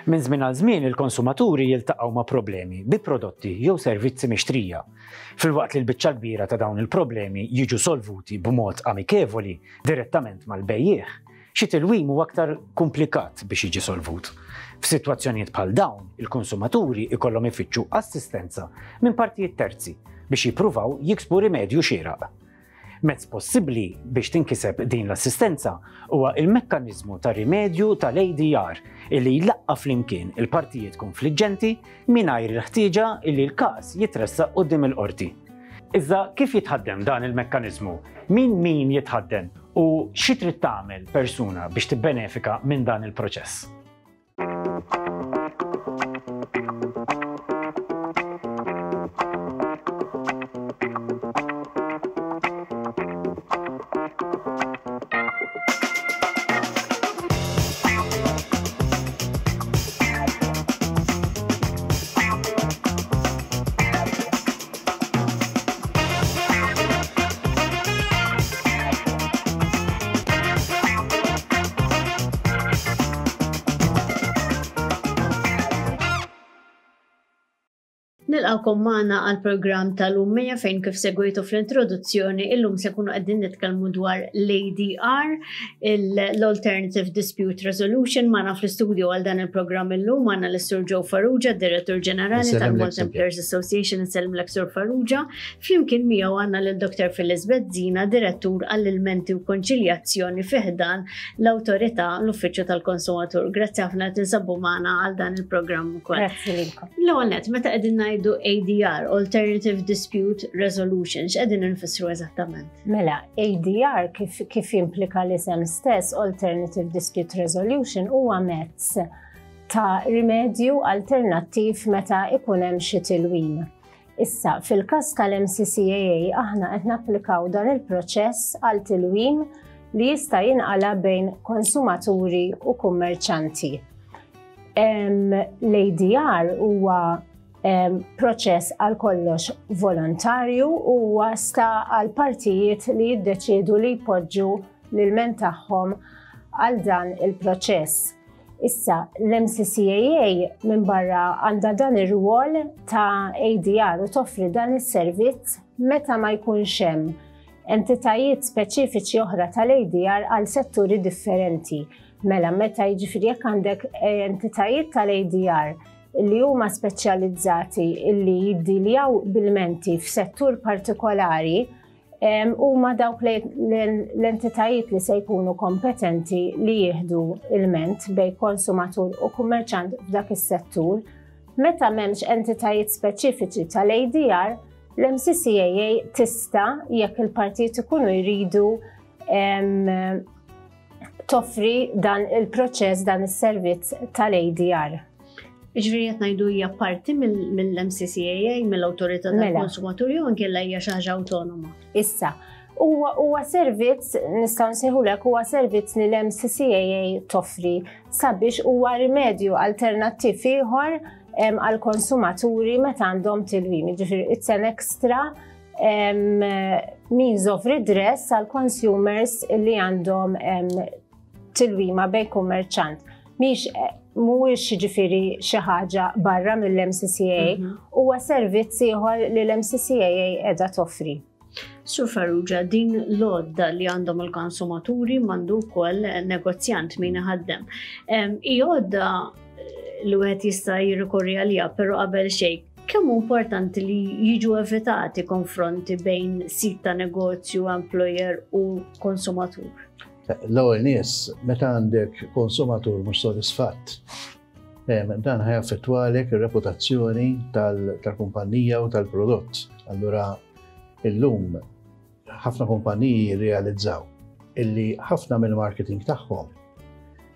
Minn żmien għal żmien il-konsumaturi jiltaqgħu ma' problemi bi prodotti jew servizzi mixtrija. Filwaqt li l-biċċa kbira ta' dawn il-problemi jiġu solvuti b'mod amikevoli direttament mal-bejjiegħ, xi tilwim huwa aktar kumplikat biex jiġi solvut. F'sitwazzjonijiet bħal dawn, il-konsumaturi ikollhom ifittxu assistenza minn partijiet terzi biex jippruvaw jiksbu rimedju xieraq. Mezz possibbli biex tinkiseb din l-assistenza huwa il-mekkaniżmu ta' rimedju tal-ADR illi jlaqqa' flimkien il-partijiet konfliġġenti mingħajr il-ħtieġa illi l-każ jitressaq quddiem il-qorti. Iżda kif jitħaddem dan il-mekkaniżmu? Min min jitħaddem u xi trid tagħmel persuna biex tibbenefika minn dan il-proċess? Nilqawkom magħna għal programm tal-Ummija fejn kif segwitu fl-introduzzjoni illum se kunu qegħdin nitkellmu dwar l-ADR, l-Alternative Dispute Resolution magħna fl-istudio għal dan il-programm illum magħna l-Sur Joe Farrugia, Direttur Ġenerali tal-Malta Employers Association, insellmlek Sur Farrugia. Flimkien miegħu għandna lil Dr. Phyllis Bezzina, Direttur għall-Ilmenti u Konċiljazzjoni fi ħdan l-Awtorità l-Uffiċċju tal-Konsumatur. Grazzi ħafna tinsabu magħna għal dan il-programm ukoll. Grazzi lilkom. L-ewwel nett, meta qegħdin ngħidu ADR, Alternative Dispute Resolution, x'qegħdin infissru eżattament? Mela, ADR kif, kif jimplika l-isem stess, Alternative Dispute Resolution, huwa mezz ta' rimedju alternattiv meta ikun hemm xi tilwim. Issa, fil-każ tal-MCCAA aħna qed napplikaw dan il-proċess għal tilwim li jista' jinqala bejn konsumaturi u kummerċanti. L-ADR huwa proċess għal kollox volontarju u huwa sta għal partijiet li jiddeċiedu li jpoġġu l-ilment tagħhom għal dan il-proċess. Issa, l-MCCAA minn barra għandha dan ir-rwol ta' ADR u toffri dan is-servizz meta ma jkunx hemm entitajiet speċifiċi oħra tal-ADR għal setturi differenti. Mela, meta jiġifieri jekk għandek eh, entitajiet tal-ADR li huma speċjalizzati li jiddiljaw bil-menti f'settur partikolari, huma dawk l-entitajiet li se jkunu kompetenti li jieħdu ilment bej konsumatur u kummerċant f'dak is-settur. Meta m'hemmx entitajiet speċifiċi tal-ADR, l-MCCAA tista' jekk il-partijiet ikunu jridu toffri dan il-proċess, dan is-servizz tal-ADR. Ġifieri qed ngħidu hija parti mill-MCCAA, mill-Awtorità mela. tal-Konsumatur jew inkella hija xi ħaġa awtonoma. Issa, huwa servizz nistgħu nsejħulek huwa servizz li l-MCCAA toffri sabiex huwa rimedju alternattiv ieħor għal konsumaturi meta għandhom tilwim. Ġifieri it's an extra means of redress għal consumers li għandhom tilwima bej kummerċant. Mhix mhuwiex ġifieri xi ħaġa barra mill-MCCA, mhm. huwa servizz ieħor li l-MCCA qiegħda toffri. Sur Farrugia, din l-għodda li għandhom il-konsumaturi mandu wkoll negozjant min iħaddem. Hi għodda li wieħed jista' jirrikorri għaliha, però qabel xejn kemm hu importanti li jiġu evitati konfronti bejn sit ta' negozju, employer u konsumatur? L-ewwel nies, meta għandek konsumatur mhux sodisfatt, dan ħajaffettwalek ir-reputazzjoni tal-kumpanija u tal-prodott. Allura illum ħafna kumpaniji jirrealizzaw illi ħafna mill-marketing tagħhom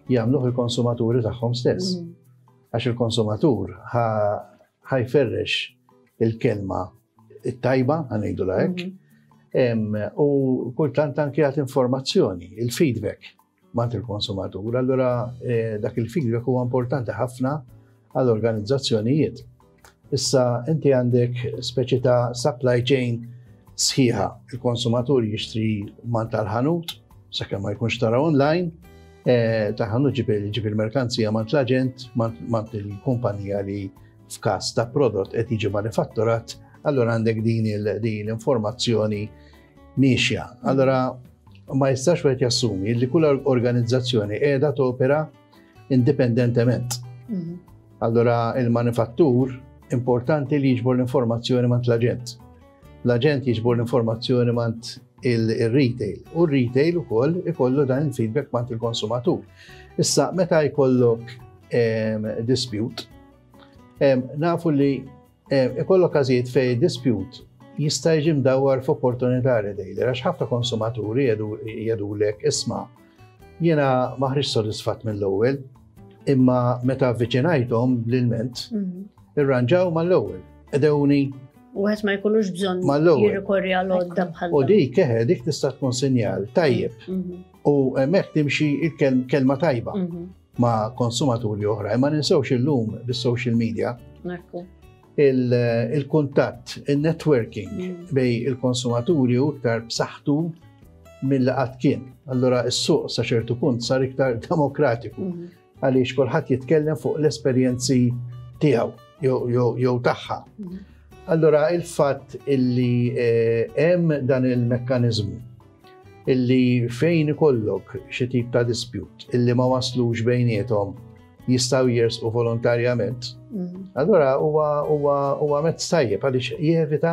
jagħmluh il-konsumaturi tagħhom stess. Mm. Għax il-konsumatur ħajferrex il-kelma it-tajba, ħanejdu hekk, mhm. u kultant anki għat informazzjoni, il-feedback mant il-konsumatur. Allura eh, dak il-feedback huwa importanti ħafna għall-organizzazzjonijiet. Issa inti għandek speċi ta' supply chain sħiħa. Il-konsumatur jixtri man tal-ħanut, sakemm ma jkunx tara online, Eh, ta' ħanut ġib il-merkanzija mant l-aġent, mant il-kumpanija li f'każ ta' prodott qed jiġi manifatturat, allura għandek din l-informazzjoni miexja. Allura ma jistax wieħed jassumi li kull organizzazzjoni qiegħda topera indipendentement. Mhm. Allura il-manifattur importanti li jiġbor l-informazzjoni mant l-aġent. L-aġent jiġbor l-informazzjoni mant il-retail u r-retail ukoll ikollu dan il-feedback mant il-konsumatur. Issa meta jkollok dispute, nafu li ikollok każijiet fej dispute jista' jiġi mdawwar f'opportunità retailer għax ħafna konsumaturi jgħidulek isma' jiena ma ħriġ sodisfatt mill-ewwel, imma meta avviċinajthom bl-ilment, mhm. irranġaw mal-ewwel. Edewni U għet ma jkollux bżonn jirrikorri għal għodda bħal. U dik eħe, dik tista' tkun sinjal tajjeb. Mhm. U hemmhekk timxi il-kelma tajba mhm. ma' konsumaturi oħra. Imma ninsewx illum bis-social media. Il-kuntatt, il-networking mm. bej il-konsumaturi u iktar b'saħħtu mill qatt kien. Allura s-suq sa ċertu punt sar iktar demokratiku. Mhm. Għaliex kulħadd jitkellem fuq l-esperjenzi tiegħu jew tagħha. Mhm. Allura il-fatt illi eh, hemm dan il-mekkaniżmu illi fejn ikollok xi tip ta' dispute illi ma waslux bejniethom jistgħu jersqu volontarjament. Mhm. Allura huwa mezz tajjeb għaliex jevita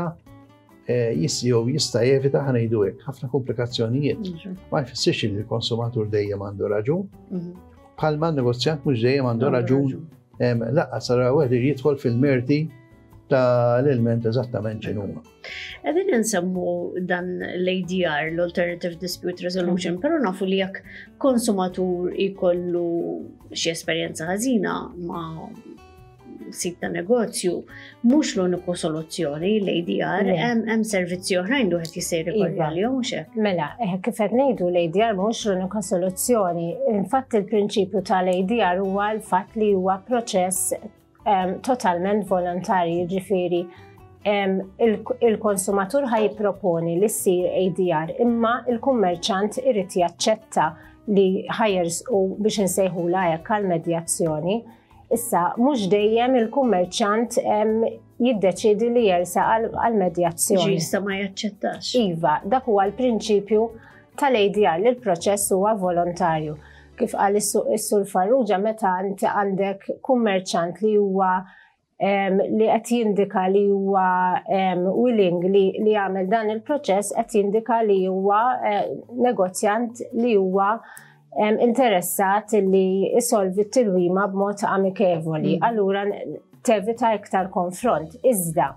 eh, jew jista' jevita ħanejdu hekk ħafna komplikazzjonijiet. Mhm. Ma jfissirx li l-konsumatur dejjem għandu raġun. Mhm. Bħalma negozjant mhux dejjem għandu raġun laqqas ara wieħed jidħol fil-merti ta' l-ilment eżattament ġinuma. Qegħdin insemmu dan l-ADR, l-Alternative Dispute Resolution, mm. però nafu li jekk konsumatur ikollu xi esperjenza ħażina ma' sit ta' negozju, mhux l-uniku soluzzjoni l-ADR, hemm servizzi oħrajn li wieħed jista' jirrikorri iva. għalihom mhux hekk. Mela, eh, kif qed ngħidu l-ADR mhux l-unika soluzzjoni. Infatti il-prinċipju tal-ADR huwa l-fatt li huwa proċess totalment volontarji, jiġifieri il-konsumatur ħaj jipproponi li ssir ADR imma il-kummerċant irid jaċċetta li ħajers u biex insejħula hekk għal medjazzjoni. Issa, mhux dejjem il-kummerċant jiddeċidi li jersa għal medjazzjoni. Ġista ma jaċċettax. Iva, dak huwa l-prinċipju tal-ADR li l-proċess huwa volontarju. Kif qal is-Sur Farrugia meta inti għandek kummerċant li huwa li qed jindika li huwa willing li jagħmel dan il-proċess qed jindika li huwa eh, negozjant li huwa interessat li isolvi t-tilwima b'mod amikevoli. Mm. Allura tevita iktar konfront. Iżda,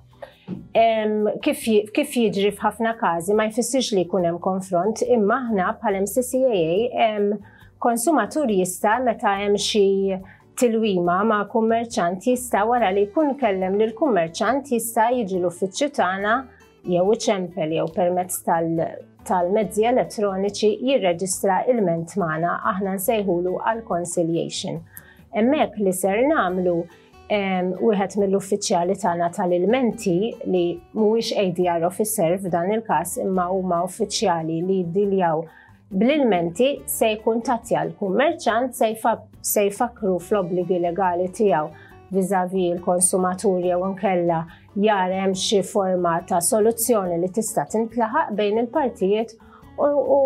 kif jiġri f'ħafna każi ma jfissirx li jkun hemm konfront, imma aħna bħal MCCAA konsumatur jista' meta hemm xi tilwima ma' kummerċant jista' wara li jkun kellem lil kummerċant jista' jiġi l-uffiċċju tagħna jew iċempel jew permezz tal-mezzi elettroniċi jirreġistra ilment magħna aħna nsejħulu għal conciliation. Hemmhekk li ser nagħmlu wieħed mill-uffiċjali tagħna tal-ilmenti li mhuwiex ADR officer f'dan il-każ imma huma uffiċjali li jiddiljaw bl-ilmenti se jkuntattja l-kummerċant se jfakru fl-obbligi legali tiegħu viżavi l-konsumatur jew inkella jara hemm xi forma ta' soluzzjoni li tista' tintlaħaq bejn il-partijiet u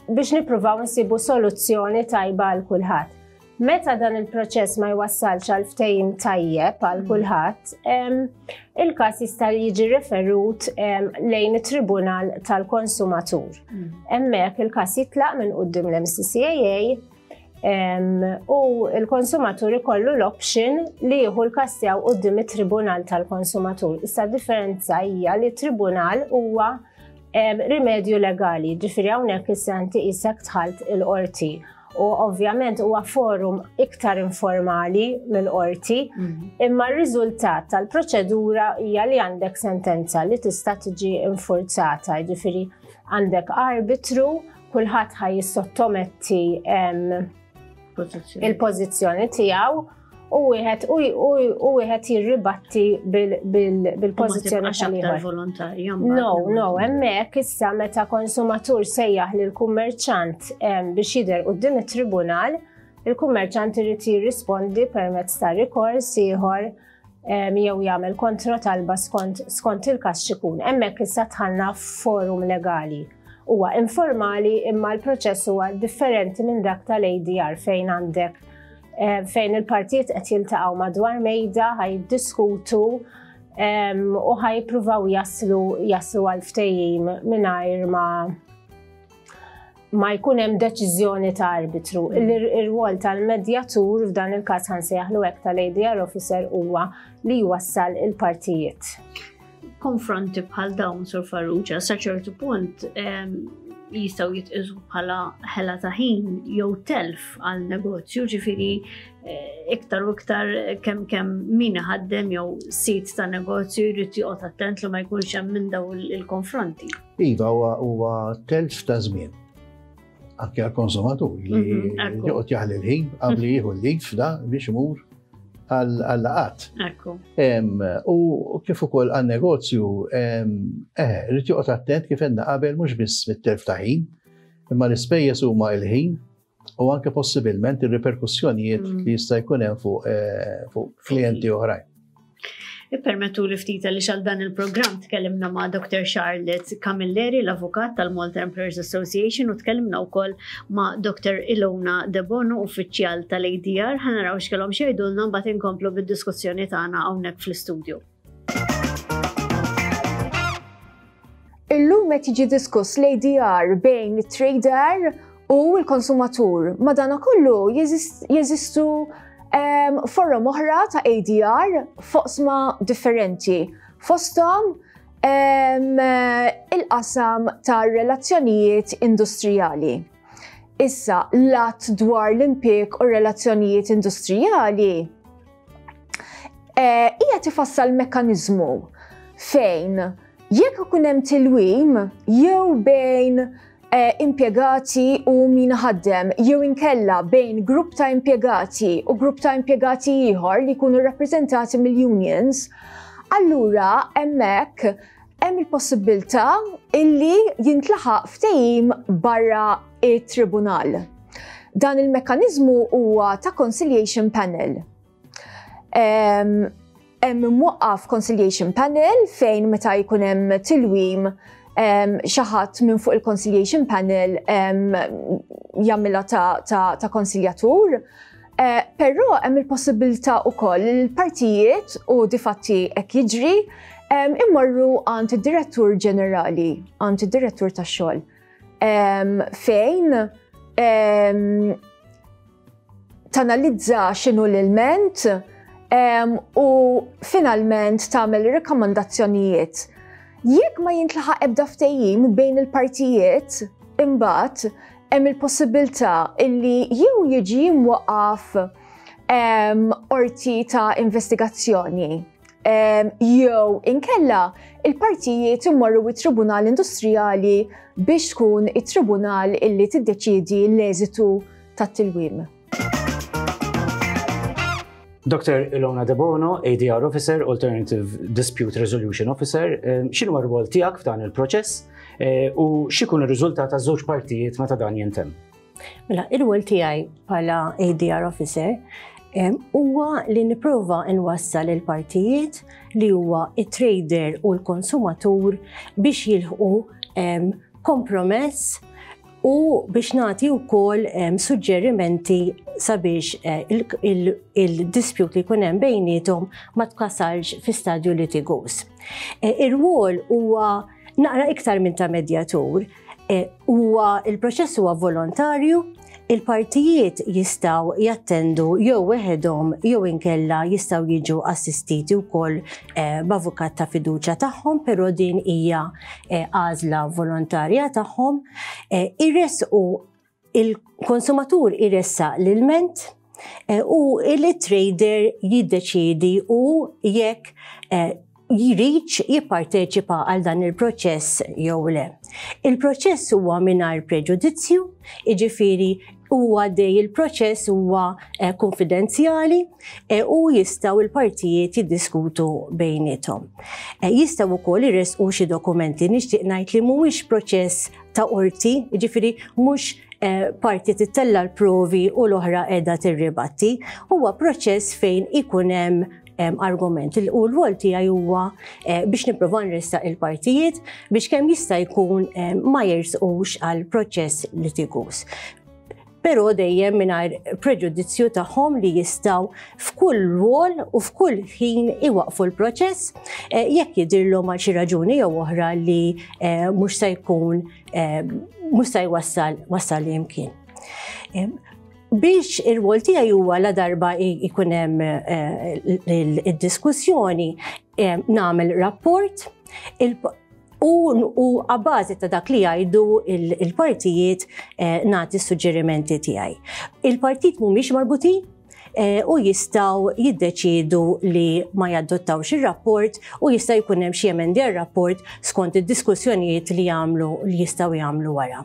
biex nippruvaw nsibu soluzzjoni tajba għal kulħadd. Meta dan il-proċess ma jwassalx għal ftehim tajjeb għal mm. kulħadd, il-każ jista' jiġi referut lejn it-Tribunal tal-Konsumatur. Mm. Hemmhekk il-każ jitlaq minn quddiem l-MCCAA u l-konsumatur ikollu l-option li jieħu l-każ tiegħu quddiem it-Tribunal tal-Konsumatur. Issa differenza hija li t-Tribunal huwa rimedju legali, ġifieri hawnhekk issa inti qisek dħalt il-qorti u ovvjament huwa forum iktar informali mill-qorti, mhm. imma r-riżultat tal-proċedura hija li għandek sentenza li tista' tiġi infurzata, ġifieri għandek arbitru, kulħadd ħaj jissottometti il-pożizzjoni tiegħu. u wieħed u wieħed jirribatti bil-pożizzjoni tal-ieħor. volontarja. No, no, hemmhekk issa meta konsumatur sejjaħ lil kummerċant biex jidher quddiem it-tribunal, il-kummerċant irid jirrispondi permezz ta' rikors ieħor jew jagħmel kontra talba skont skont il-każ x'ikun. Hemmhekk issa dħalna forum legali. Huwa informali imma l-proċess huwa differenti minn dak tal-ADR fejn għandek eh, fejn il-partijiet qed jiltaqgħu madwar mejda ħaj jiddiskutu u ħajpruvaw jaslu jaslu għal ftehim mingħajr ma ma jkun hemm deċiżjoni ta' arbitru. Ir-rwol tal-medjatur f'dan il-każ ħansejjaħlu hekk tal-ADR officer huwa li jwassal il-partijiet. Konfronti bħal dawn Sur Farrugia sa ċertu punt jistgħu jitqisu bħala ħela ta' ħin jew telf għal negozju, ġifieri eh, iktar u iktar kemm kemm min iħaddem jew sit ta' negozju jrid joqgħod attent li ma jkunx hemm minn daw il-konfronti. Iva huwa telf ta' żmien. Anke għal-konsumatur li mhm, joqgħod jaħli l-ħin qabli jieħu l-lif da biex imur għal-laqat. U kif ukoll għan-negozju, eh, rrid joqgħod attent kif għedna qabel mhux biss mit-telf ta' ħin, imma l-ispejjeż huma il-ħin u anke possibilment ir-riperkussjonijiet mm. li jista' jkun hemm fuq eh, fuq klijenti oħrajn. Ippermettu li ftit li xal dan il-programm tkellimna ma' Dr. Charlotte Camilleri, l-avukat tal-Malta Employers Association, u tkellimna wkoll ma' Dr. Ilona Debono, uffiċjal tal-ADR. Ħa naraw x'kellhom xejdulna mbagħad inkomplu bid-diskussjoni tagħna hawnhekk fl-istudju. Illum qed jiġi diskuss l-ADR bejn it-trader u l-konsumatur. Madanakollu jeżistu ehm, forom oħra ta' ADR foqsma differenti. Fosthom ehm, il-qasam ta' relazzjonijiet industrijali. Issa, l-att dwar l-impjieg u relazzjonijiet industrijali eh, hija tifassal mekkaniżmu fejn jekk ikun hemm tilwim jew bejn eh, impjegati u min ħaddem jew inkella bejn grupp ta' impjegati u grupp ta' impjegati ieħor li jkunu rappreżentati mill-unions, allura hemmhekk hemm il-possibilità illi jintlaħaq ftehim barra it-tribunal. Dan il-mekkaniżmu huwa ta' conciliation panel. Hemm imwaqqaf conciliation panel fejn meta jkun hemm tilwim xi ħadd minn fuq il-conciliation panel jagħmilha ta', ta, ta konsiljatur. Eh, però hemm il-possibilità wkoll li l-partijiet u difatti hekk jiġri immorru għand id-direttur ġenerali, għand id-direttur tax-xogħol. Fejn tanalizza x'inhu l-ilment u finalment tagħmel rakkomandazzjonijiet. Jekk ma jintlaħaq ebda ftehim bejn il-partijiet, imbagħad hemm il-possibilità illi jew jiġi mwaqqaf qorti ta' investigazzjoni jew inkella il-partijiet immorru it-Tribunal Industrijali biex tkun it-tribunal illi tiddeċiedi l-eżitu tat-tilwim. Dr. Ilona Debono, ADR Officer, Alternative Dispute Resolution Officer, x'inhu r-rwol tiegħek f'dan il-proċess eh, u x'ikun ir-riżultat taż-żewġ partijiet meta dan jintemm? Mela, ir-rwol tiegħi bħala ADR Officer huwa li nipprova nwassal il-partijiet li huwa it-trader u l-konsumatur biex jilħqu kompromess u biex nagħti wkoll suġġerimenti sabiex eh, il-dispute li jkun hemm bejniethom ma tkasalx fi stadju litigus. Eh, ir-rwol huwa naqra iktar minn ta' medjatur, eh, huwa il-proċess huwa volontarju, il-partijiet jistaw jattendu jew weħedhom jew inkella jistaw jiġu assistiti wkoll eh, b'avukat ta' fiduċja tagħhom, però din hija eh, għażla volontarja tagħhom. Eh, iressqu il-konsumatur iressaq l-ilment u il-trader jiddeċiedi u jekk jridx jipparteċipa għal dan il-proċess jew le. Il-proċess huwa mingħajr preġudizzju, jiġifieri Huwa għaddej il-proċess huwa eh, konfidenzjali eh, u jistgħu il-partijiet jiddiskutu bejniethom. Eh, jistgħu wkoll iressqu xi dokumenti nixtieq ngħid li mhuwiex proċess ta' qorti, jiġifieri mhux parti tittella l-provi u l-oħra qiegħda tirribatti, huwa proċess fejn ikun hemm argument. U l-rwol tiegħi huwa eh, biex nipprova nressaq il-partijiet biex kemm jista' jkun ma jersqux għal proċess litigus. Però dejjem mingħajr preġudizzju tagħhom li jistgħu f'kull rwol u f'kull ħin iwaqfu l-proċess eh, jekk jidhirlhom għal xi raġuni jew oħra li eh, mhux se jkun mhux se jwassal wassal li jimkien. Biex ir-rwol tiegħi huwa la darba jkun hemm eh, id-diskussjoni eh, nagħmel rapport u għabbażi ta' dak li jgħidu il-partijiet eh, nagħti suġġerimenti tiegħi. Il-partit mhumiex marbutin u jistgħu jiddeċiedu li ma jadottawx ir-rapport u jista' jkun hemm xi emendi għar-rapport skont id-diskussjonijiet li jagħmlu li jistgħu jagħmlu wara.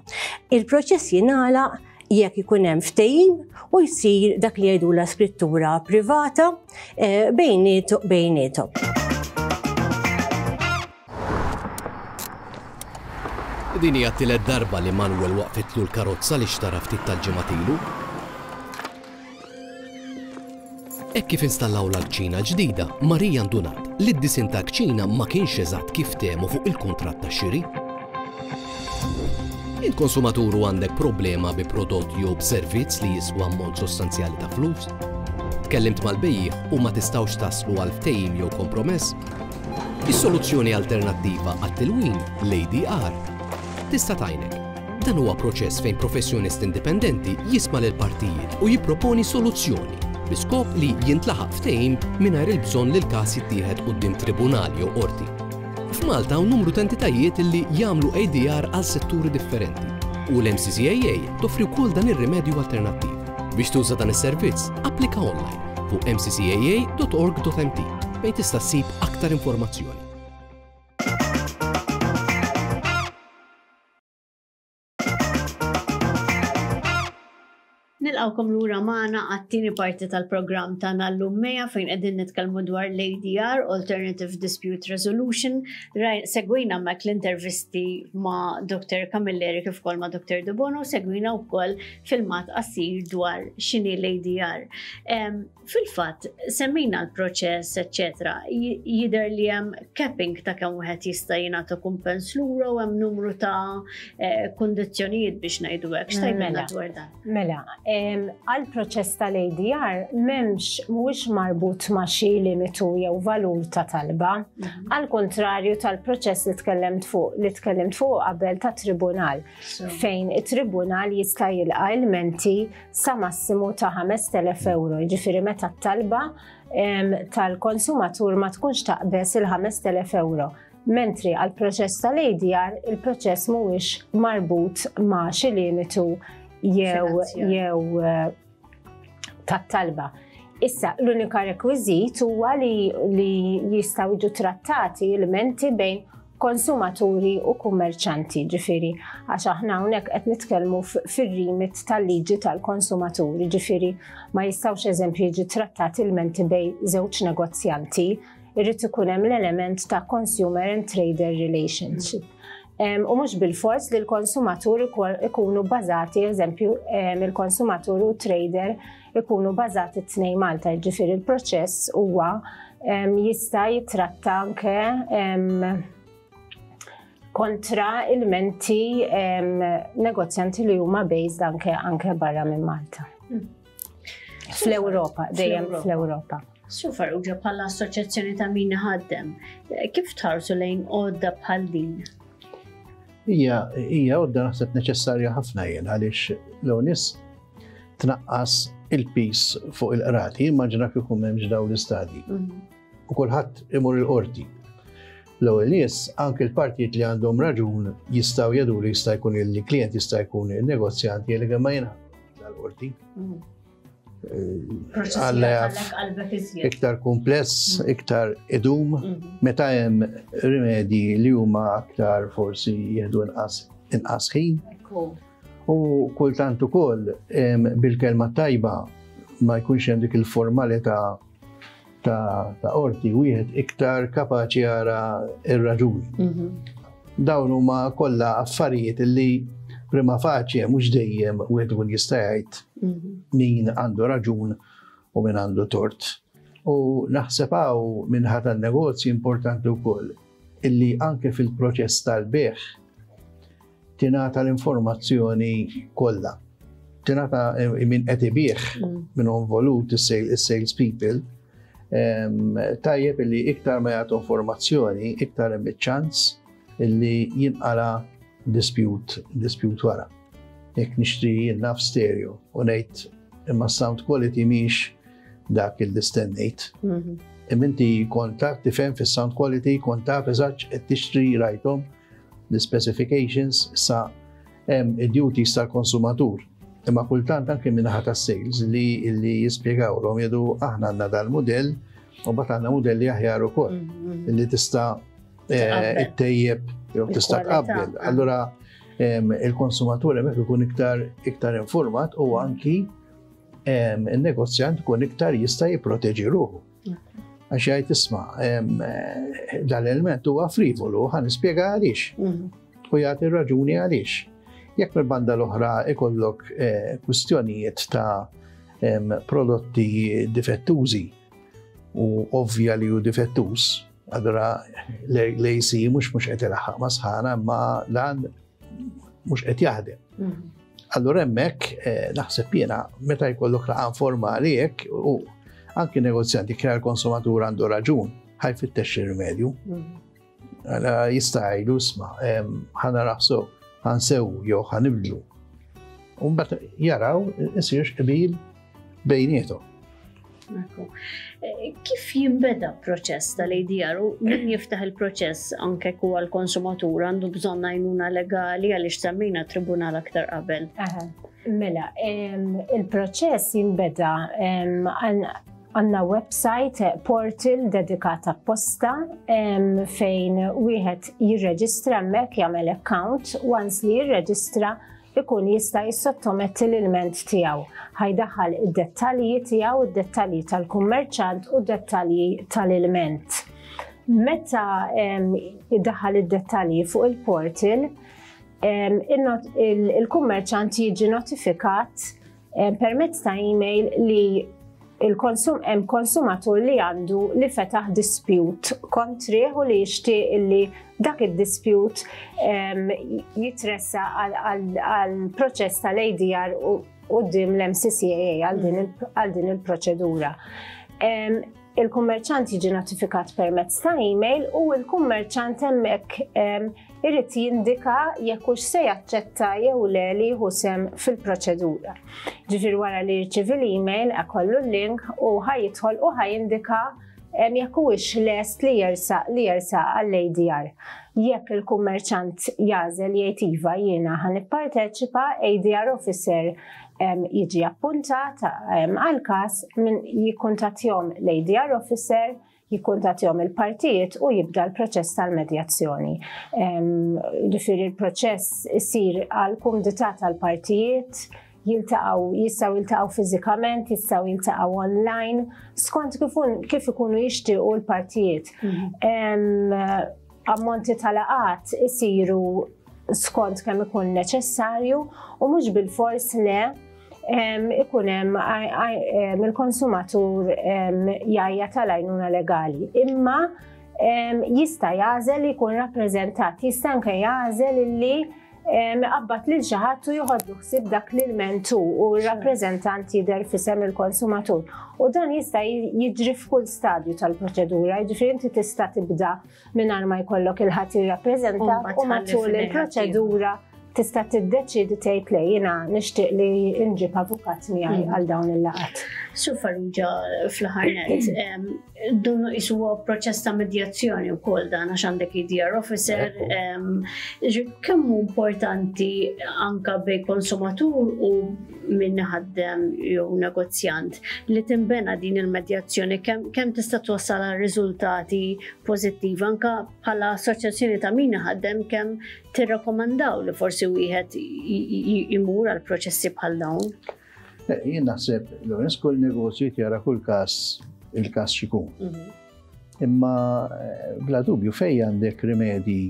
Il-proċess jingħalaq jekk ikun hemm ftehim u jsir dak li jgħidula skrittura privata eh, bejnietu bejnietom. Din hija t-tielet darba li Manuel waqfitlu l-karozza li xtara ftit tal-ġimgħat ilu. Hekk kif installawlha l-kċina l-ġdida, Maria ndunat li d-disinn tal-kċina ma kienx eżatt kif ftehmu fuq il-kuntratt tax-xiri. Int konsumatur u għandek problema bi prodott jew b'servizz li jiswa ammont sostanzjali ta' flus? Tkellimt mal-bejjiegħ u ma tistgħux taslu għal ftehim jew kompromess? Is-soluzzjoni alternattiva għat-tilwim, l-ADR, tista' tgħinek. Dan huwa proċess fejn professjonist indipendenti jisma' lill-partijiet u jipproponi soluzzjoni bi skop li jintlaħaq ftehim mingħajr il-bżonn li l-każ jittieħed quddiem tribunal jew qorti. F'Malta hawn numru ta' entitajiet li jagħmlu ADR għal setturi differenti u l-MCCAA toffri wkoll dan ir-rimedju alternattiv. Biex tuża dan is-servizz, applika online fuq mccaa.org.mt fejn tista' ssib aktar informazzjoni. Nilqawkom lura magħna għat-tieni parti tal-programm tagħna llum Meja fejn qegħdin nitkellmu dwar l-ADR, Alternative Dispute Resolution. Segwina mek l-intervisti ma' Dr. Camilleri kif ukoll ma' Dr. De Bono, segwina wkoll filmat qasir dwar x'inhi l-ADR. Fil-fatt, semmejna l-proċess, eċċetera, jidher li hemm capping ta' kemm wieħed jista' jingħata kumpens lura u hemm numru ta' eh, kundizzjonijiet biex ngħidu hekk. X'tgħidilna mela, dwar dan? Mela, għall-proċess tal-ADR m'hemmx mhuwiex marbut ma' xi limitu jew valur ta' talba. Mhm. Għal kontrarju tal-proċess li tkellimt fuq li tkellimt fuq qabel ta' tribunal fejn it-tribunal jista' jilqa' ilmenti sa massimu ta' 5,000 euro, jiġifieri meta t-talba tal-konsumatur ma tkunx taqbeż il-5,000 euro. Mentri għal proċess tal-ADR il-proċess mhuwiex marbut ma' xi limitu jew jew eh, tat-talba. Issa, l-unika rekwiżit huwa li, li jistgħu jiġu trattati l-menti bejn konsumaturi u kummerċanti, ġifiri, għax aħna hawnhekk qed nitkellmu fir-rimit tal-liġi tal-konsumaturi, ġifiri ma jistgħux eżempju jiġi trattati l-menti bej żewġ negozjanti, irrid ikun hemm l-element ta' consumer and trader relationship. U mhux bil-fors li l-konsumatur ikunu bażati, eżempju, il-konsumatur u trader ikunu bażati t-tnejn Malta, ġifieri il-proċess huwa jista' jitratta anke kontra il-menti negozjanti li huma based anke anke barra minn Malta. Hmm. Fl-Ewropa, dejjem fl-Ewropa. Su Farrugia bħala assoċjazzjoni ta' min ħaddem, kif tħarsu lejn għodda bħal din? Hija hija għodda naħseb neċessarja ħafna jien għaliex l-onis tnaqqas il-pis fuq il-qrati, immaġina kieku m'hemmx dawn l-istadji. Mhm. U kulħadd imur il-qorti. L-ewwel nies, anke l-partijiet li għandhom raġun jistgħu jgħidu li jista' jkun il-klient jista' jkun il-negozjant jgħid ma jiena l-qorti. Mhm. Eh, iktar kumpless, mm. iktar idum, mm-hmm. meta hemm rimedji li huma aktar forsi jieħdu inqas ħin. U kultant ukoll bil-kelma tajba ma jkunx hemm dik il-formalità ta' qorti wieħed iktar kapaċi jara ir-raġuni. Dawn huma kollha affarijiet li prima facie mhux dejjem wieħed ikun jista' jgħid min għandu raġun u min għandu tort. U naħseb hawn minħa tan-negozji importanti wkoll illi anke fil-proċess tal-bejgħ tingħata l-informazzjoni kollha. Tingħata eh, min qed ibigħ mm. minn involut is-sales people. Tajjeb illi iktar ma jagħtu informazzjoni, iktar hemm iċ-ċans illi jinqala dispute, dispute wara. Jekk nixtri jien naf stereo u ngħid imma sound quality mhix dak il stennejt. Mhm. Imma inti kont taf tifhem fis-sound quality, kont taf eżatt qed tixtri rajthom l-specifications sa hemm id-duties tal-konsumatur. Imma kultant anke minnaħa tas-sales li li jispjegawlhom jgħidu aħna għandna dal-mudell u mbagħad għandna mudelli aħjar ukoll mhm. li tista' eh, ittejjeb jew tista' tqabbel. Allura il-konsumatur hemmhekk ikun iktar iktar informat u anki il-negozjant ikun iktar jista' jipproteġi ruħu. Għax jgħid isma' dal-element huwa frivolu, ħa nispjega għaliex. Mhm. U jagħti raġuni għaliex. Jekk mill-banda l-oħra ikollok eh, kwistjonijiet ta' prodotti difettużi u ovvja li hu difettuż, allura l-AC mhux mhux qed ilaħħaq ma' sħana imma dan mhux qed jaħdem. Mhm. Allura hemmhekk eh, naħseb jiena meta jkollok laqgħa formali hekk u anki negozjanti kien l-konsumatur għandu raġun ħajfittex ir-rimedju. Mhm. Għala jista' jgħidu isma' ħana raħsu ħansew jew ħanibdlu. U mbagħad jaraw isirx qbil bejniethom. Eh, kif jinbeda proċess tal-ADR u min jiftaħ il-proċess anke ku għal-konsumatur għandu bżonn għajnuna legali għaliex semmejna tribunal aktar qabel? Mela, il-proċess jinbeda għanna website portal dedikat apposta fejn wieħed jirreġistra hemmhekk jagħmel account once li jirreġistra ikun jista' jissottometti l-ilment tiegħu. Ħa jdaħħal id-dettalji tiegħu, id-dettalji tal-kummerċant u d-dettalji tal-ilment. Meta jdaħħal id-dettalji fuq il-portal, il-kummerċant jiġi notifikat permezz ta' email li il-konsum hemm konsumatur li għandu li fetaħ dispute kontrih u li jixtieq li dak id-dispute jitressa għal proċess tal-ADR quddiem l-MCCAA għal din il-proċedura. Il-kummerċant jiġi notifikat permezz ta' email u l-kummerċant hemmhekk irid jindika jekk hux se jaċċetta jew le li jieħu sehem fil-proċedura. Ġifier wara li jirċievi l-email ikollu l-link u ħa jidħol u ħa jindika jekk huwiex lest li jersaq li jersaq għall-ADR. Jekk il-kummerċant jagħżel jgħid iva jiena ħa nipparteċipa, ADR officer jiġi appuntat għal każ min jikkuntattjahom l-ADR officer, jikkuntattjahom il-partijiet u jibda l-proċess tal-medjazzjoni. Ġifieri l-proċess isir għal kumdità tal-partijiet, jiltaqgħu, jistgħu jiltaqgħu fiżikament, jistgħu jiltaqgħu online, skont kif ikunu jixtiequ l-partijiet. Mhm. Ammonti tal-laqgħat isiru skont kemm ikun neċessarju u mhux bil-fors le ikun hemm il-konsumatur jgħajja tal-għajnuna legali. Imma jista' jagħżel li jkun rappreżentat, jista' anke jagħżel li iqabbad lil xi ħadd u joħodlu ħsieb dak l-ilment hu u r-rappreżentant jidher f'isem il-konsumatur. U dan jista' jiġri f'kull stadju tal-proċedura, jiġifieri inti tista' tibda mingħajr ma jkollok il-ħadd jirrappreżentak u matul il-proċedura tista' tiddeċiedi tgħid le jiena nixtieq li nġib avukat miegħi mm. għal dawn il-laqgħat. Sur Farrugia fl-aħħar nett, dun qisu huwa proċess ta' medjazzjoni wkoll dan għax għandek ADR officer, kemm hu importanti anka bejn konsumatur u min ħaddem jew negozjant li tinbena din il-medjazzjoni kemm tista' twassal għal riżultati pożittivi anka bħala assoċjazzjoni ta' min ħaddem kemm tirrakkomandaw li forsi wieħed imur għal proċessi bħal dawn? Eh, jien naħseb l kull negozju jara kull każ il-każ xikun. Mhm. Imma eh, bla dubju fej għandek rimedji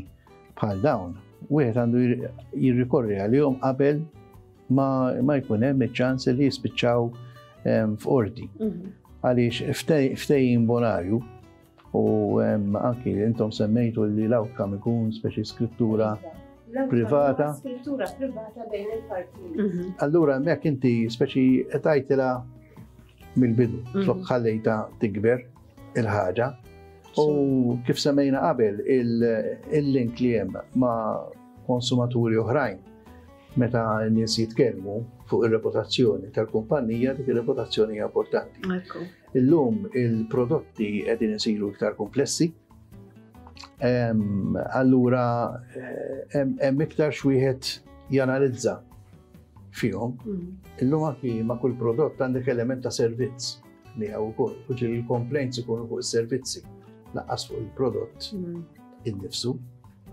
bħal dawn, wieħed għandu jirrikorri għalihom qabel ma, ma jkun hemm iċ-ċans li jispiċċaw ehm, f'qorti. Mhm. Għaliex ftehim bonarju U anki intom semmejtu li l-outcome ikun speċi skrittura privata. Skrittura privata bejn il-partijiet. Mhm. Allura hemmhekk inti speċi qed mill-bidu, mhm. flok ħallejta tikber il-ħaġa. U kif semmejna qabel il-link li hemm ma' konsumaturi oħrajn meta n-nies jitkellmu fuq ir-reputazzjoni tal-kumpanija, dik ir-reputazzjoni hija importanti. Illum il-prodotti qegħdin isiru iktar komplessi. Allura eh, hemm iktar xwieħed janalizza fihom. Mm. Illum anki ma' kull prodott għandek element ta' servizz miegħu wkoll. U ġieli l-complaints ikunu fuq is-servizzi laqqas fuq il-prodott mm. innifsu.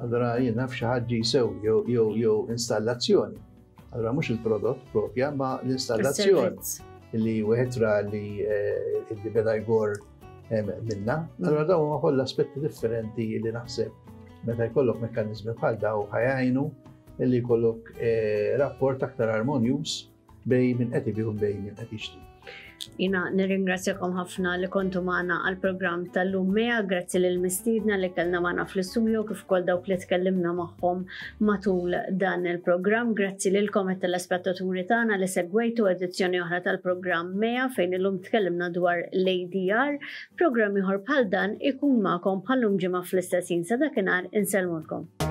Allura jien naf xi ħadd sew jew jew installazzjoni. Allura mhux il-prodott propja ma l-installazzjoni li wieħed ra li eh, li beda jgor eh, minna. Allura dawn huma kollha aspetti differenti li naħseb meta jkollok mekkaniżmi bħal daw ħajajnu li jkollok eh, rapport aktar armonjuż bejn min qed ibih u bejn min qed jixtri. Jina nirringrazzjakom ħafna li kontu magħna għal programm tal-lum Mea, grazzi lil mistiedna li kellna magħna fl-istudio kif ukoll dawk li tkellimna magħhom matul dan il-programm. Grazzi lilkom it-telespettaturi tagħna li segwejtu edizzjoni oħra tal-programm Mea fejn illum tkellimna dwar l-ADR. Programm ieħor bħal dan ikun magħkom bħal-lum ġimgħa fl-istess ħin sa dakinhar insellmulkom.